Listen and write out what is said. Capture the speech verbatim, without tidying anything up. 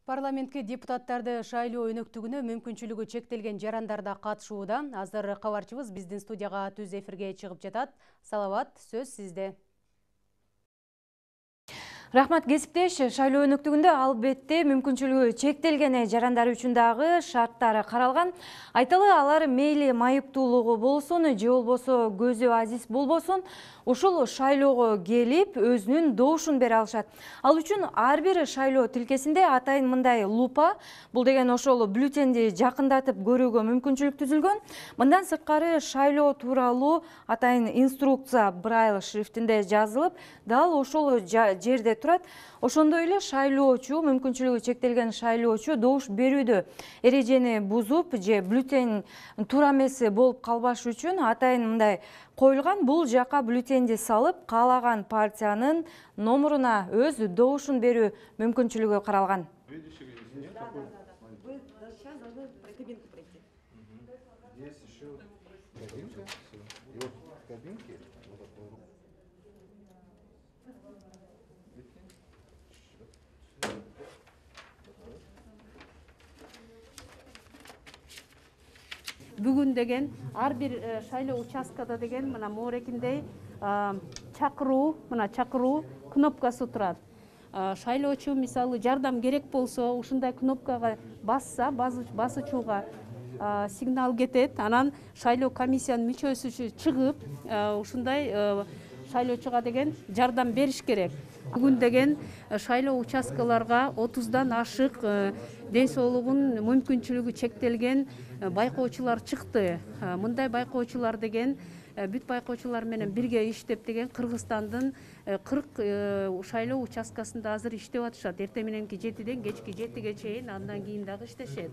Парламентке депутаттарды шайлоо өнөктүгүнө мүмкүнчүлүгү чектелген жарандар да катышууда. Азыр кабарчыбыз биздин студияга түз эфирге чыгып жатат. Салават, сөз сизде. Рахмат, кесиптеш. Шайлоо өнөктүгүндө албетте мүмкүнчүлүгү чектелген жарандар үчүн дагы шарттары каралган. Айталы, алар мейли майыптуулугу болсун, же болбосо көзү азиз болбосун, ушул шайлоого келип өзүнүн добушун бере алышат. Ал үчүн ар бир шайлоо тилкесинде атайын мындай лупа, бул деген ошол бюллетенди жакындатып көрүүгө мүмкүнчүлүк түзүлгөн. Мындан сырткары шайлоо тууралуу атайын инструкция Braille шрифтинде жазылып, дал ошол жерде турат. Ошондой эле шайлоочу, мүмкүнчүлүгү чектелген шайлоочу добуш берүүдө эрежени бузуп же бюллетень туура эмес болуп калбаш үчүн атайын мындай коюлган. Бул жака бюллетенди салып, каалаган партиянын номуруна өз добушун берүү мүмкүнчүлүгү каралган. Бүгүн деген ар бир шайлоо участкада деген мына моорекиндей чакыруу, мына чакыруу кнопкасы турат. Шайлоочу мисалы жардам керек болсо, ушундай кнопкага басса, басуучуга сигнал кетет. Анан шайлоо комиссиянын мүчөсү чыгып, ушундай шайлоочуга деген жардам бериш керек. Бүгүн деген шайлоо участкаларга отуздан ашык ден соолугун мүмкүнчүлүгү чектелген байкоочулар чыкты. Мындай байкоочулар деген бүт байкоочулар менен бирге иштеп деген Кыргызстандын кырк шайлоо участкасында азыр иштеп атышат. Эртең мененки жетиден кечки жетиге чейин, андан кийин дагы иштешет.